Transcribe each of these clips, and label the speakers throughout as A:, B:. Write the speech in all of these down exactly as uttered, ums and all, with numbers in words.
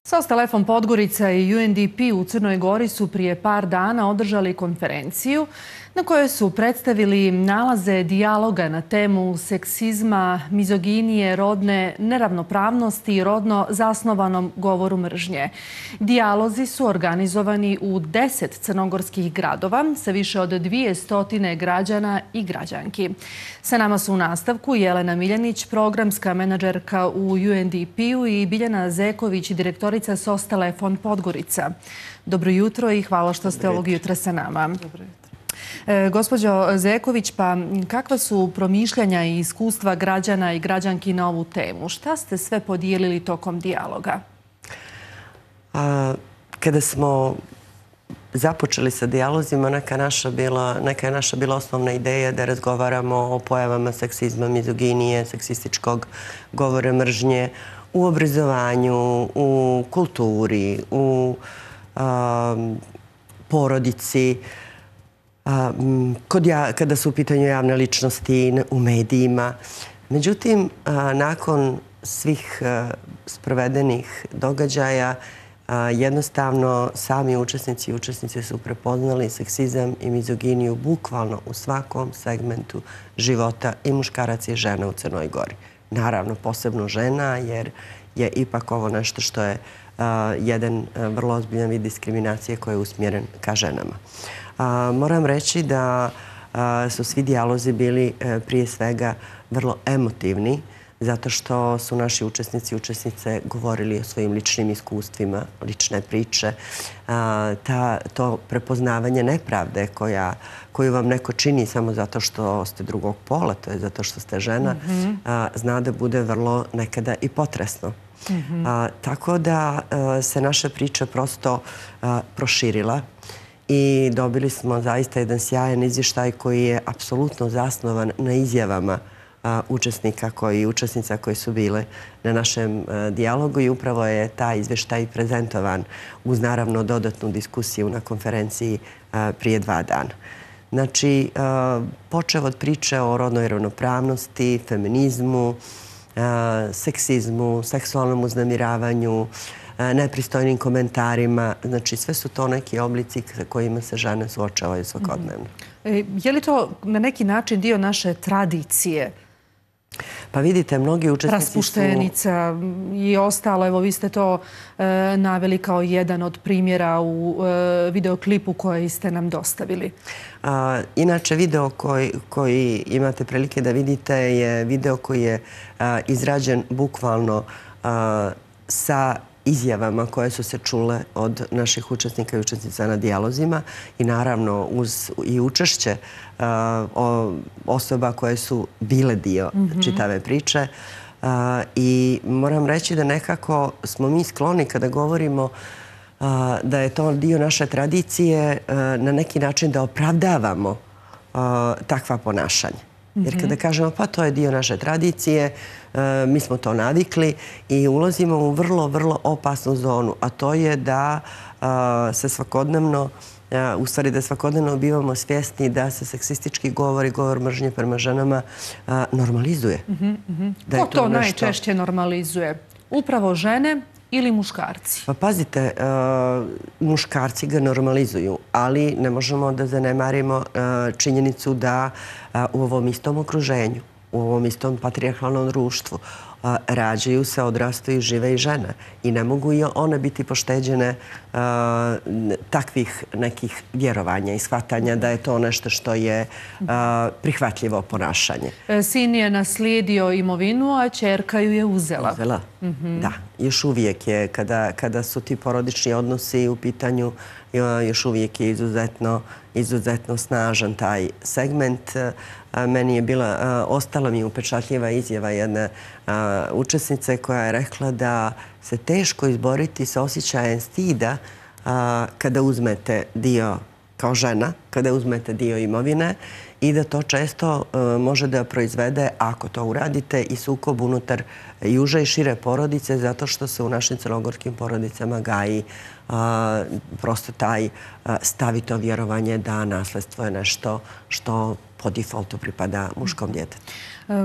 A: SOS Telefon Podgorica i U N D P u Crnoj Gori su prije par dana održali konferenciju na kojoj su predstavili nalaze dijaloga na temu seksizma, mizoginije, rodne neravnopravnosti i rodno zasnovanom govoru mržnje. Dijalozi su organizovani u deset crnogorskih gradova sa više od dvije stotine građana i građanki. Sa nama su u nastavku Jelena Miljanić, programska menadžerka u U N D P-u i Biljana Zeković, direktorica SOS Telefon Podgorica. Dobro jutro i hvala što ste ovog jutra sa nama.
B: Dobro jutro.
A: E, gospođo Zeković, pa kakva su promišljanja i iskustva građana i građanki na ovu temu? Šta ste sve podijelili tokom dijaloga?
B: A, kada smo započeli sa dijalozima, neka, naša bila, neka je naša bila osnovna ideja da razgovaramo o pojavama seksizma, mizoginije, seksističkog govora mržnje u obrazovanju, u kulturi, u a, porodici, A, kod ja, kada su u pitanju javne ličnosti, u medijima. Međutim, a, nakon svih a, sprovedenih događaja, a, jednostavno sami učesnici i učesnice su prepoznali seksizam i mizoginiju bukvalno u svakom segmentu života i muškaraca i žena u Crnoj Gori. Naravno, posebno žena, jer je ipak ovo nešto što je a, jedan a, vrlo ozbiljan vid diskriminacije koji je usmjeren ka ženama. A, moram reći da a, su svi dijalozi bili a, prije svega vrlo emotivni, zato što su naši učesnici i učesnice govorili o svojim ličnim iskustvima, lične priče. A, ta, to prepoznavanje nepravde koja, koju vam neko čini samo zato što ste drugog pola, to je zato što ste žena, mm-hmm. a, zna da bude vrlo nekada i potresno. Mm-hmm. a, tako da a, se naša priča prosto a, proširila. I dobili smo zaista jedan sjajan izvještaj koji je apsolutno zasnovan na izjavama a, učesnika koji, učesnica koji su bile na našem a, dijalogu i upravo je taj izvještaj prezentovan uz naravno dodatnu diskusiju na konferenciji a, prije dva dana. Znači, a, počev od priče o rodnoj ravnopravnosti, feminizmu, a, seksizmu, seksualnom uznemiravanju, nepristojnim komentarima. Znači, sve su to neki oblici sa kojima se žene suočavaju svakodnevno.
A: E, je li to na neki način dio naše tradicije?
B: Pa vidite, mnogi učesnici su...
A: Raspuštenica i ostalo. Evo, vi ste to e, naveli kao jedan od primjera u e, videoklipu koji ste nam dostavili.
B: A, inače, video koji, koji imate prilike da vidite je video koji je a, izrađen bukvalno a, sa izjavama koje su se čule od naših učesnika i učesnica na dijalozima i naravno uz i učešće uh, o, osoba koje su bile dio mm-hmm. čitave priče. Uh, I moram reći da nekako smo mi skloni kada govorimo uh, da je to dio naše tradicije uh, na neki način da opravdavamo uh, takva ponašanja. Jer kada kažemo pa to je dio naše tradicije, mi smo to navikli i ulazimo u vrlo, vrlo opasnu zonu, a to je da se svakodnevno, u stvari da svakodnevno bivamo svjesni da se seksistički govor i govor mržnje prema ženama normalizuje.
A: Da je to, to nešto... najčešće normalizuje? Upravo žene ili muškarci?
B: Pa pazite, uh, muškarci ga normalizuju, ali ne možemo da zanemarimo uh, činjenicu da uh, u ovom istom okruženju, u ovom istom patrijarhalnom društvu uh, rađaju se, odrastaju, žive i žene. I ne mogu i one biti pošteđene uh, takvih nekih vjerovanja i shvatanja da je to nešto što je uh, prihvatljivo ponašanje.
A: Sin je naslijedio imovinu, a ćerka ju je uzela.
B: Uzela, mm-hmm. da. Još uvijek je, kada, kada su ti porodični odnosi u pitanju, još uvijek je izuzetno, izuzetno snažan taj segment. Meni je bila, ostala mi upečatljiva izjava jedne učesnice koja je rekla da se teško izboriti sa osjećajem stida kada uzmete dio kao žena, kada uzmete dio imovine i da to često može da proizvede, ako to uradite, i sukob unutar i uže i šire porodice, zato što se u našim crnogorskim porodicama gaji prosto taj stavito vjerovanje da nasledstvo je nešto što po defaultu pripada muškom djetetu.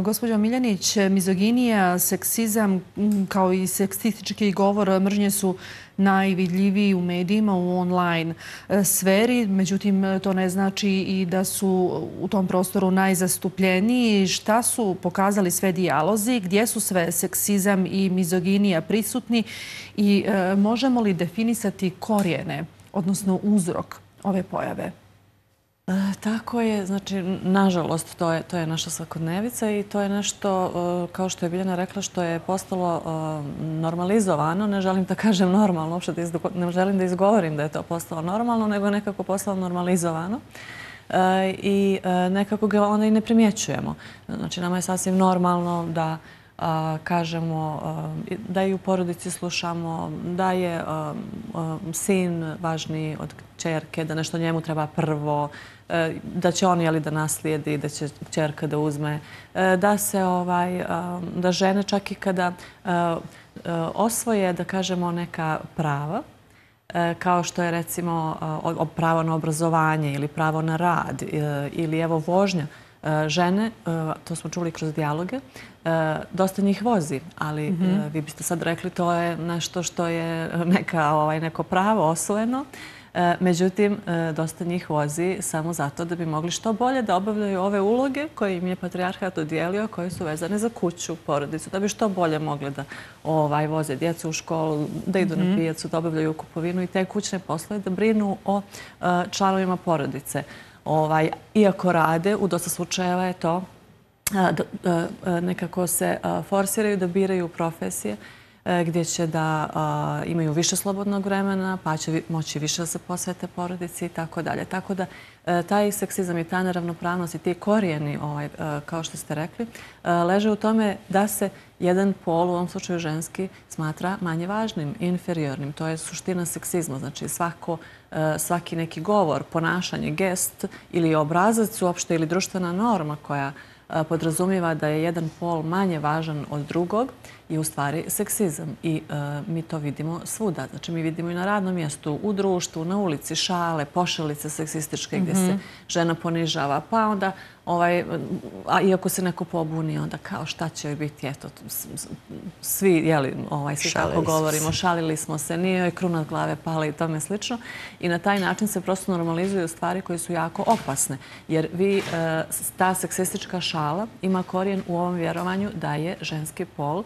A: Gospođo Miljanić, mizoginija, seksizam kao i seksistički govor mržnje su najvidljiviji u medijima, u online sferi. Međutim, to ne znači i da su u tom prostoru najzastupljeniji. Šta su pokazali sve dijalozi? Gdje su sve seksizam i mizoginija prisutni? I možemo li definisati korijene, odnosno uzrok ove pojave?
C: Tako je, znači, nažalost, to je, to je naša svakodnevica i to je nešto, kao što je Biljana rekla, što je postalo normalizovano. Ne želim da kažem normalno, uopšte ne želim da izgovorim da je to postalo normalno, nego je nekako postalo normalizovano. I nekako ga onda i ne primjećujemo. Znači, nama je sasvim normalno da kažemo da i u porodici slušamo, da je sin važniji od kćerke, da nešto njemu treba prvo, da će on jeli da naslijedi, da će kćerka da uzme, da se ovaj, da žene čak i kada osvoje, da kažemo, neka prava, kao što je recimo pravo na obrazovanje ili pravo na rad ili evo vožnja, žene, to smo čuli kroz dijaloge, dosta njih vozi, ali vi biste sad rekli to je nešto što je neko pravo osvojeno. Međutim, dosta njih vozi samo zato da bi mogli što bolje da obavljaju ove uloge koje im je patrijarhat dodijelio, koje su vezane za kuću, porodicu, da bi što bolje mogli da voze djecu u školu, da idu na pijacu, da obavljaju kupovinu i te kućne poslove, da brinu o članovima porodice. Iako rade, u dosta slučajeva je to, nekako se forsiraju da biraju profesije gdje će da imaju više slobodnog vremena, pa će moći više da se posvete porodici i tako dalje. Tako da taj seksizam i ta neravnopravnost i ti korijeni, kao što ste rekli, leže u tome da se jedan pol, u ovom slučaju ženski, smatra manje važnim, inferiornim. To je suština seksizma. Znači svaki neki govor, ponašanje, gest ili obrazac uopšte ili društvena norma koja podrazumijeva da je jedan pol manje važan od drugog je u stvari seksizam. I mi to vidimo svuda. Znači mi vidimo i na radnom mjestu, u društvu, na ulici, šale, pošalice seksističke gdje se žena ponižava. Pa onda, a iako se neko pobuni, onda kao šta će joj biti, eto, svi, jeli, svi tako govorimo, šalili smo se, nije joj kruna od glave pala i tome slično. I na taj način se prosto normalizuju stvari koje su jako opasne. Jer vi, ta seksistička šala ima korijen u ovom vjerovanju da je ženski pol,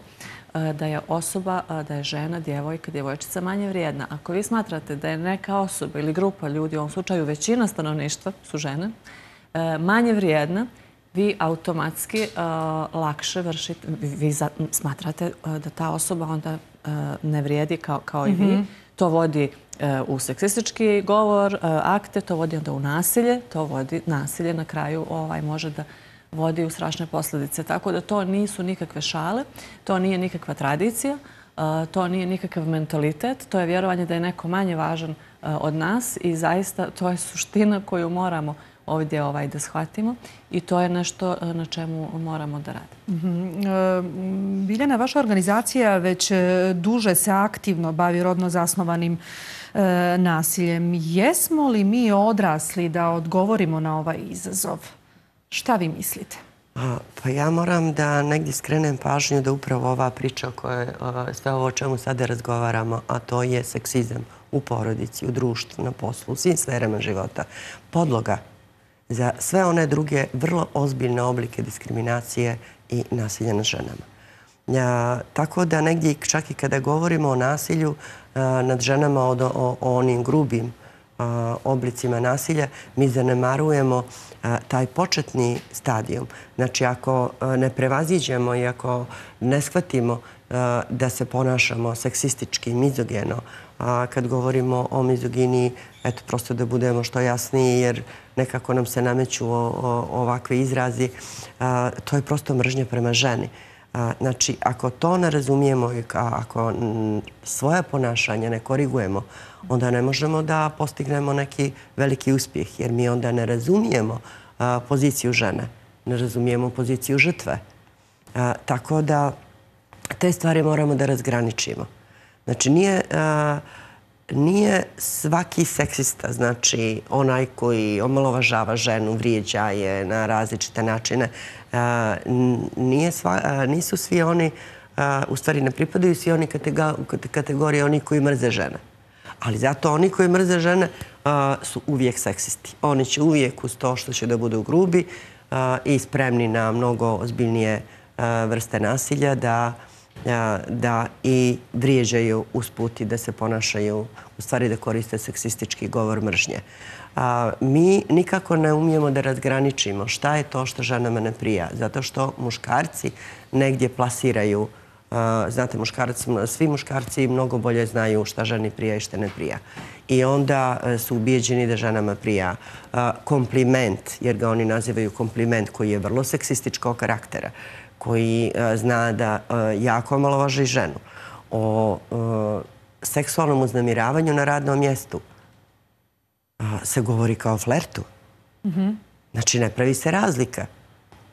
C: da je osoba, da je žena, djevojka, djevojčica manje vrijedna. Ako vi smatrate da je neka osoba ili grupa ljudi, u ovom slučaju većina stanovništva su žene, manje vrijedna, vi automatski lakše vršite, vi smatrate da ta osoba onda ne vrijedi kao i vi. To vodi u seksistički govor, akte, to vodi onda u nasilje, to vodi nasilje na kraju može da vodi u strašne posljedice. Tako da to nisu nikakve šale, to nije nikakva tradicija, to nije nikakav mentalitet, to je vjerovanje da je neko manje važan od nas i zaista to je suština koju moramo ovdje da shvatimo i to je nešto na čemu moramo da radimo.
A: Biljana, vaša organizacija već duže se aktivno bavi rodno zasnovanim nasiljem. Jesmo li mi odrasli da odgovorimo na ovaj izazov? Šta vi mislite?
B: Pa ja moram da negdje skrenem pažnju da upravo ova priča o kojoj sve ovo o čemu sada razgovaramo, a to je seksizam u porodici, u društvu, na poslu, u svim sferama života, podloga za sve one druge vrlo ozbiljne oblike diskriminacije i nasilja nad ženama. Tako da negdje čak i kada govorimo o nasilju nad ženama, o onim grubim oblicima nasilja, mi zanemarujemo taj početni stadijum. Znači, ako ne prevaziđemo i ako ne shvatimo da se ponašamo seksistički, mizogeno, kad govorimo o mizoginiji, eto, prosto da budemo što jasniji, jer nekako nam se nameću ovakve izrazi, to je prosto mržnja prema ženi. Znači, ako to ne razumijemo i ako svoje ponašanje ne korigujemo, onda ne možemo da postignemo neki veliki uspjeh, jer mi onda ne razumijemo poziciju žene, ne razumijemo poziciju žrtve. Tako da te stvari moramo da razgraničimo. Znači, nije... Nije svaki seksista, znači onaj koji omalovažava ženu, vrijeđa je na različite načine. Nisu svi oni, u stvari ne pripadaju svi oni kategorije oni koji mrze žene. Ali zato oni koji mrze žene su uvijek seksisti. Oni će uvijek uz to što će da budu grubi i spremni na mnogo ozbiljnije vrste nasilja da da i vrijeđaju usput i da se ponašaju, u stvari da koriste seksistički govor mržnje. Mi nikako ne umijemo da razgraničimo šta je to što ženama ne prija, zato što muškarci negdje plasiraju, znate, svi muškarci mnogo bolje znaju šta ženi prija i šta ne prija. I onda su ubijeđeni da ženama prija kompliment, jer ga oni nazivaju kompliment koji je vrlo seksističkog karaktera, koji zna da jako omalovaži ženu, o seksualnom uznemiravanju na radnom mjestu se govori kao flertu. Znači, ne pravi se razlika.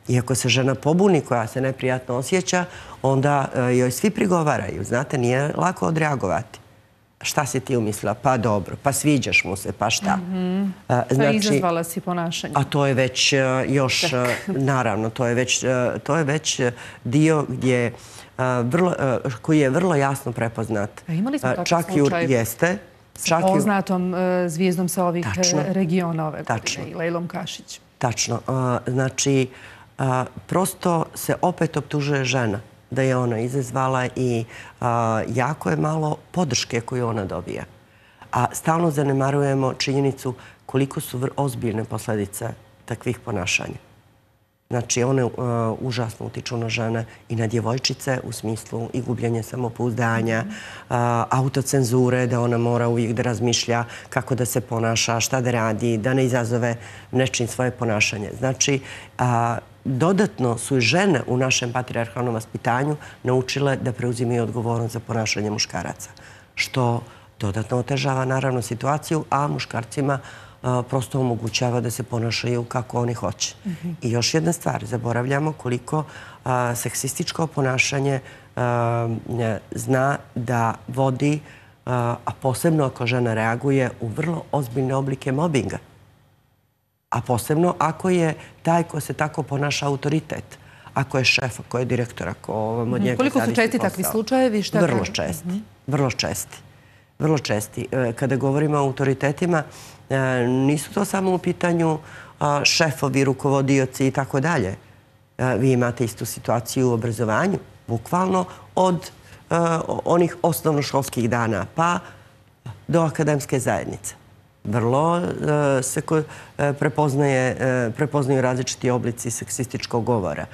B: Iako se žena pobuni koja se neprijatno osjeća, onda joj svi prigovaraju. Znate, nije lako odreagovati. Šta si ti umislila? Pa dobro, pa sviđaš mu se, pa šta?
A: Pa izazvala si ponašanje.
B: A to je već još, naravno, to je već dio koji je vrlo jasno prepoznat.
A: Imali smo takav slučaj sa poznatom zvijezdom sa ovih regiona ove godine, Lejlom Kašić.
B: Tačno. Znači, prosto se opet optužuje žena da je ona izazvala i jako je malo podrške koju ona dobija. A stalno zanemarujemo činjenicu koliko su ozbiljne posljedice takvih ponašanja. Znači, one užasno utiču na žene i na djevojčice u smislu i gubljenja samopouzdanja, autocenzure, da ona mora uvijek da razmišlja kako da se ponaša, šta da radi, da ne izazove nečim svoje ponašanje. Znači, dodatno su i žene u našem patrijarhalnom vaspitanju naučile da preuzimaju odgovornost za ponašanje muškaraca, što dodatno otežava naravno situaciju, a muškarcima prosto omogućava da se ponašaju kako oni hoće. I još jedna stvar, zaboravljamo koliko seksističko ponašanje zna da vodi, a posebno ako žena reaguje, u vrlo ozbiljne oblike mobinga. A posebno ako je taj ko se tako ponaša autoritet, ako je šef, ako je direktor, ako od njega zavisi posao.
A: Koliko su česti takvi slučajevi?
B: Vrlo česti. Vrlo česti. Vrlo česti. Kada govorimo o autoritetima, nisu to samo u pitanju šefovi, rukovodioci i tako dalje. Vi imate istu situaciju u obrazovanju, bukvalno od onih osnovnoškolskih dana pa do akademske zajednice. Vrlo se prepoznaju različiti oblici seksističkog govora.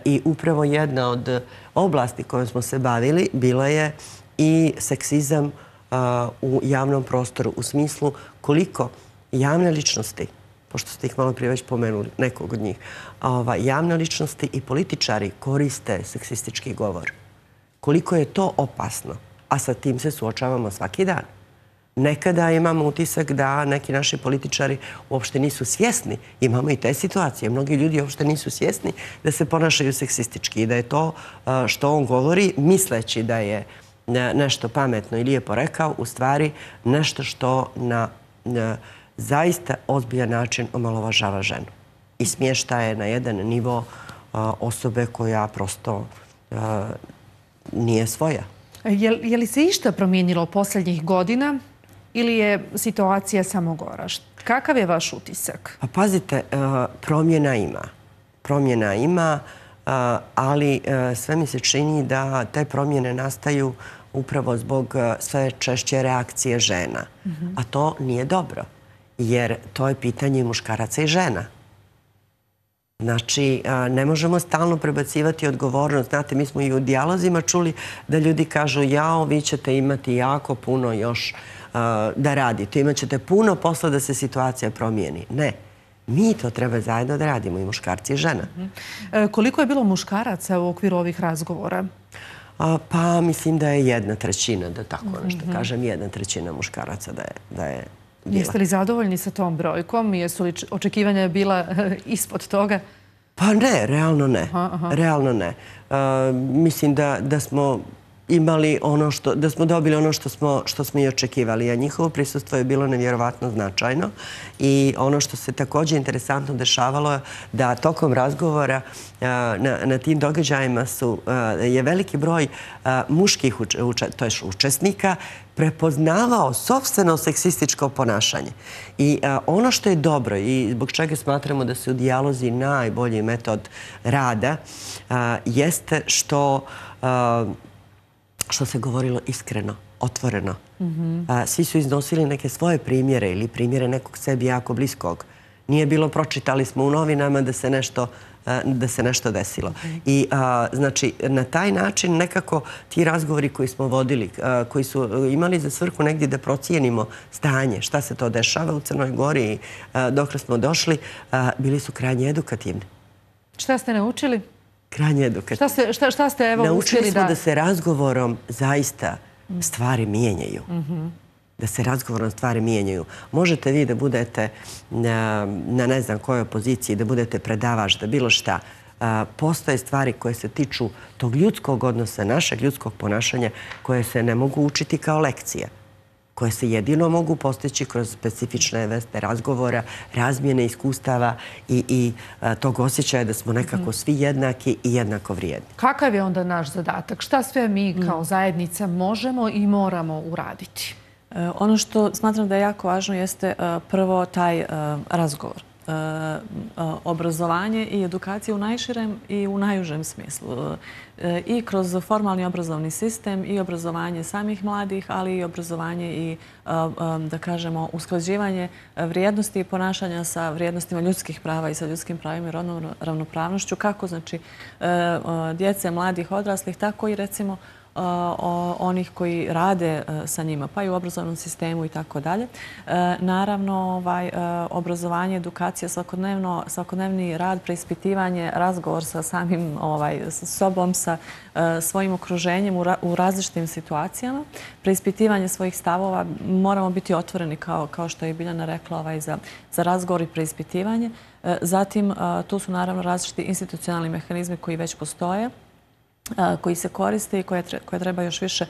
B: I upravo jedna od oblasti kojom smo se bavili bila je i seksizam u javnom prostoru, u smislu koliko javne ličnosti, pošto ste ih malo prije već pomenuli, nekog od njih, javne ličnosti i političari koriste seksistički govor. Koliko je to opasno, a sa tim se suočavamo svaki dan. Nekada imamo utisak da neki naši političari uopšte nisu svjesni. Imamo i te situacije. Mnogi ljudi uopšte nisu svjesni da se ponašaju seksistički i da je to što on govori, misleći da je nešto pametno i lijepo rekao, u stvari nešto što na zaista ozbiljan način omalovažava ženu i smješta je na jedan nivo osobe koja prosto nije svoja.
A: Je li se išta promijenilo posljednjih godina ili je situacija samo gora? Kakav je vaš utisak?
B: Pa pazite, promjena ima. Promjena ima, ali sve mi se čini da te promjene nastaju upravo zbog sve češće reakcije žena. A to nije dobro, jer to je pitanje muškaraca i žena. Znači, ne možemo stalno prebacivati odgovornost. Znate, mi smo i u dijalozima čuli da ljudi kažu jao, vi ćete imati jako puno još da radite. Imat ćete puno posla da se situacija promijeni. Ne. Mi to treba zajedno da radimo, i muškarci i žena.
A: Koliko je bilo muškaraca u okviru ovih razgovora?
B: Pa mislim da je jedna trećina, da tako nešto kažem, jedna trećina muškaraca bila.
A: Jeste li zadovoljni sa tom brojkom? Jesu li očekivanja bila ispod toga?
B: Pa ne, realno ne. Realno ne. Mislim da smo imali ono što, da smo dobili ono što smo, što smo i očekivali. A njihovo prisustvo je bilo nevjerovatno značajno. I ono što se također interesantno dešavalo je da tokom razgovora na, na tim događajima su, je veliki broj muških to je učesnika prepoznavao sopstveno seksističko ponašanje. I a, ono što je dobro i zbog čega smatramo da su dijalozi najbolji metod rada a, jeste što a, što se govorilo iskreno, otvoreno. Svi su iznosili neke svoje primjere ili primjere nekog sebi jako bliskog. Nije bilo pročitali smo u novinama da se nešto da se nešto desilo. I znači na taj način nekako ti razgovori koji smo vodili, koji su imali za svrhu negdje da procijenimo stanje, šta se to dešava u Crnoj Gori i dokle smo došli, bili su krajnje edukativni.
A: Šta ste naučili?
B: Krajnje edukativni.
A: Šta ste, šta, šta ste evo
B: naučili
A: uspjeli
B: smo
A: da...
B: da se razgovorom zaista stvari mijenjaju. Da se razgovorno stvari mijenjaju. Možete vi da budete na, na ne znam kojoj poziciji, da budete predavač, da bilo šta. Postoje stvari koje se tiču tog ljudskog odnosa, našeg ljudskog ponašanja, koje se ne mogu učiti kao lekcija, koje se jedino mogu postići kroz specifične vrste razgovora, razmjene iskustava i, i tog osjećaja da smo nekako svi jednaki i jednako vrijedni.
A: Kakav je onda naš zadatak? Šta sve mi kao zajednica možemo i moramo uraditi?
C: Ono što smatram da je jako važno jeste prvo taj razgovor. Obrazovanje i edukacija u najširem i u najužem smislu. I kroz formalni obrazovni sistem i obrazovanje samih mladih, ali i obrazovanje i, da kažemo, usklađivanje vrijednosti i ponašanja sa vrijednostima ljudskih prava i sa ljudskim pravima i rodnom ravnopravnošću, kako znači djece, mladih, odraslih, tako i recimo onih koji rade sa njima, pa i u obrazovnom sistemu i tako dalje. Naravno, obrazovanje, edukacija, svakodnevni rad, preispitivanje, razgovor sa samim sobom, sa svojim okruženjem u različitim situacijama, preispitivanje svojih stavova, moramo biti otvoreni, kao što je Biljana rekla, za razgovor i preispitivanje. Zatim, tu su naravno različiti institucionalni mehanizmi koji već postoje, koji se koriste i koje treba još više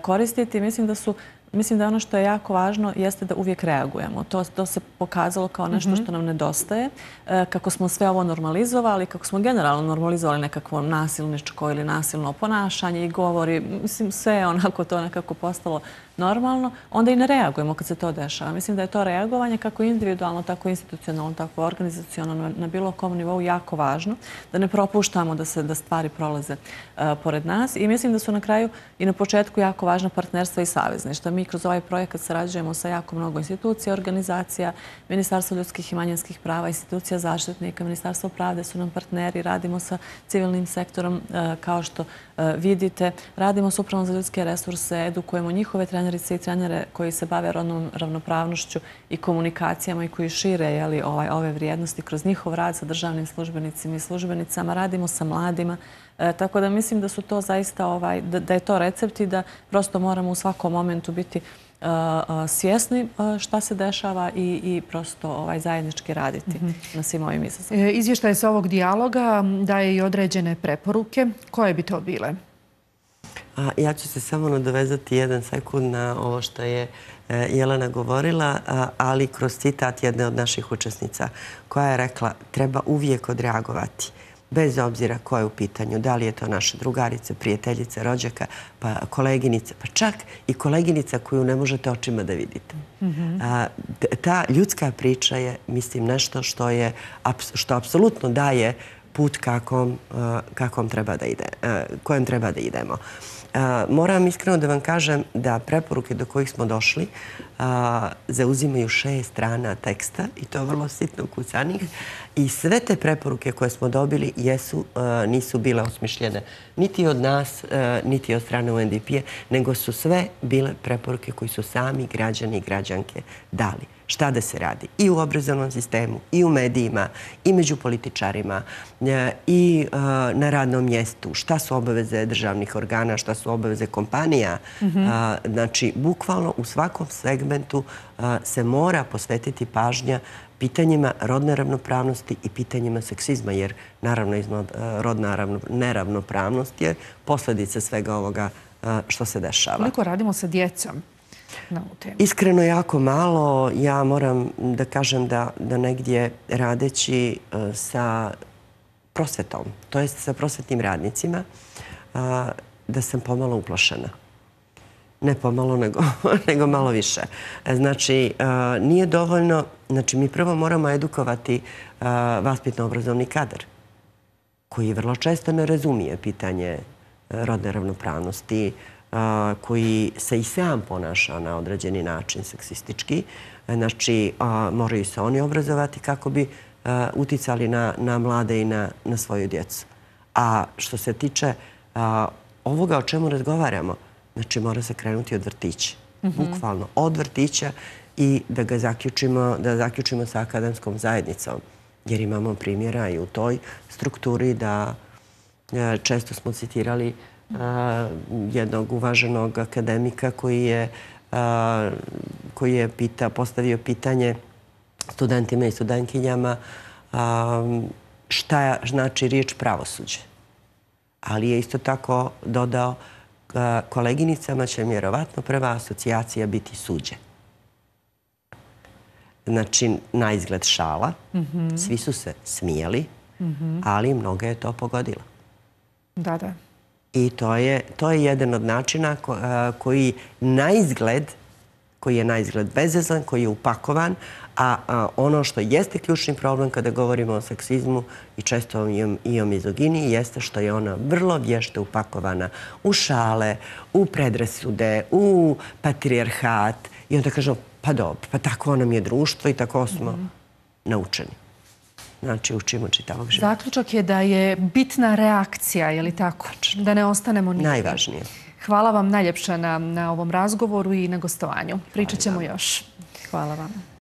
C: koristiti. Mislim da su Mislim da ono što je jako važno jeste da uvijek reagujemo. To, to se pokazalo kao nešto što nam nedostaje. Kako smo sve ovo normalizovali, kako smo generalno normalizovali nekakvo nasilničko ili nasilno ponašanje i govori, mislim sve onako to nekako postalo normalno, onda i ne reagujemo kad se to dešava. Mislim da je to reagovanje kako individualno, tako institucionalno, tako organizacionalno na bilo kom nivou jako važno, da ne propuštamo da se da stvari prolaze uh, pored nas. I mislim da su na kraju i na početku jako važna partnerstva i savezništva. Mi kroz ovaj projekat sarađujemo sa jako mnogo institucija, organizacija, Ministarstvo ljudskih i manjinskih prava, institucija zaštitnika, Ministarstvo pravde su nam partneri, radimo sa civilnim sektorom uh, kao što uh, vidite, radimo s Upravom za ljudske resurse, edukujemo njihove trenerice i trenere koji se bave rodnom ravnopravnošću i komunikacijama i koji šire jeli, ovaj, ove vrijednosti kroz njihov rad sa državnim službenicima i službenicama. Radimo sa mladima. E, tako da mislim da su to zaista, ovaj, da, da je to recept i da prosto moramo u svakom momentu biti uh, uh, svjesni uh, šta se dešava i, i prosto ovaj, zajednički raditi mm-hmm. na svim ovim izazovima.
A: E, izvještaj sa ovog dijaloga daje i određene preporuke. Koje bi to bile?
B: A, ja ću se samo nadovezati jedan sekund na ovo što je e, Jelena govorila, a, ali kroz citat jedne od naših učesnica koja je rekla treba uvijek odreagovati. Bez obzira ko je u pitanju, da li je to naše drugarice, prijateljice, rođaka, pa koleginice, pa čak i koleginica koju ne možete očima da vidite. Mm-hmm. A, ta ljudska priča je, mislim, nešto što je, što apsolutno daje put kakom, kakom treba da ide, kojem treba da idemo. Moram iskreno da vam kažem da preporuke do kojih smo došli zauzimaju šest strana teksta i to vrlo sitno kucanih i sve te preporuke koje smo dobili jesu, nisu bile osmišljene niti od nas, niti od strane U N D P-a, nego su sve bile preporuke koji su sami građani i građanke dali. šta da se radi i u obrazovnom sistemu, i u medijima, i među političarima, i na radnom mjestu. Šta su obaveze državnih organa, šta su obaveze kompanija. Znači, bukvalno u svakom segmentu se mora posvetiti pažnja pitanjima rodne ravnopravnosti i pitanjima seksizma, jer naravno rodna neravnopravnost je posljedica svega ovoga što se dešava.
A: Koliko radimo sa djecom na ovu temu?
B: Iskreno jako malo. Ja moram da kažem da negdje radeći sa prosvetom, to jest sa prosvetnim radnicima, da sam pomalo uplašena. Ne pomalo, nego malo više. Znači, nije dovoljno. Znači, mi prvo moramo edukovati vaspitno-obrazovni kadar, koji vrlo često ne razumije pitanje rodne ravnopravnosti, koji se i sam ponaša na određeni način seksistički. Znači, moraju se oni obrazovati kako bi uticali na mlade i na svoju djecu. A što se tiče ovoga o čemu razgovaramo, znači mora se krenuti od vrtića. Bukvalno od vrtića i da ga zaključimo, da zaključimo sa akademskom zajednicom. Jer imamo primjera i u toj strukturi da često smo citirali jednog uvaženog akademika koji je koji je postavio pitanje studentima i studentkinjama šta znači riječ pravosuđe. Ali je isto tako dodao koleginicama će vjerovatno prva asocijacija biti suđe. Znači, na izgled šala, svi su se smijali, ali mnoga je to pogodila.
A: Da, da.
B: I to je jedan od načina koji na izgled, koji je na izgled bezvezan, koji je upakovan, a ono što jeste ključni problem kada govorimo o seksizmu i često i o mizoginiji jeste što je ona vrlo vješto upakovana u šale, u predrasude, u patrijarhat i onda kažemo pa dobro, pa tako nam je društvo i tako smo naučeni. Znači, učimo čitavog života.
A: Zaključak je da je bitna reakcija, je li tako? Da ne ostanemo nikada.
B: Najvažnije.
A: Hvala vam najljepša na ovom razgovoru i na gostovanju. Pričat ćemo još.
C: Hvala vam.